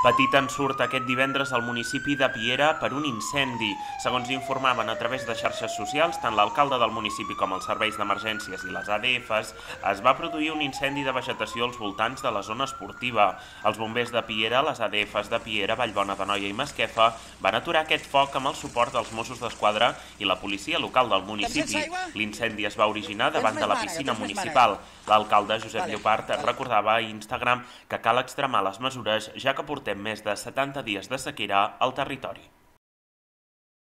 Petit ensurt aquest divendres al municipi de Piera per un incendi. Segons informaven a través de xarxes socials, tant l'alcalde del municipi com els serveis d'emergències i les ADFs, es va produir un incendi de vegetació als voltants de la zona esportiva. Els bombers de Piera, les ADFs de Piera, Vallbona d'Anoia i Masquefa van aturar aquest foc amb el suport dels Mossos d'Esquadra i la policia local del municipi. L'incendi es va originar davant de la piscina municipal. L'alcalde Josep Llopart recordava a Instagram que cal extremar les mesures, ja que portem més de 70 dies de sequera al territori.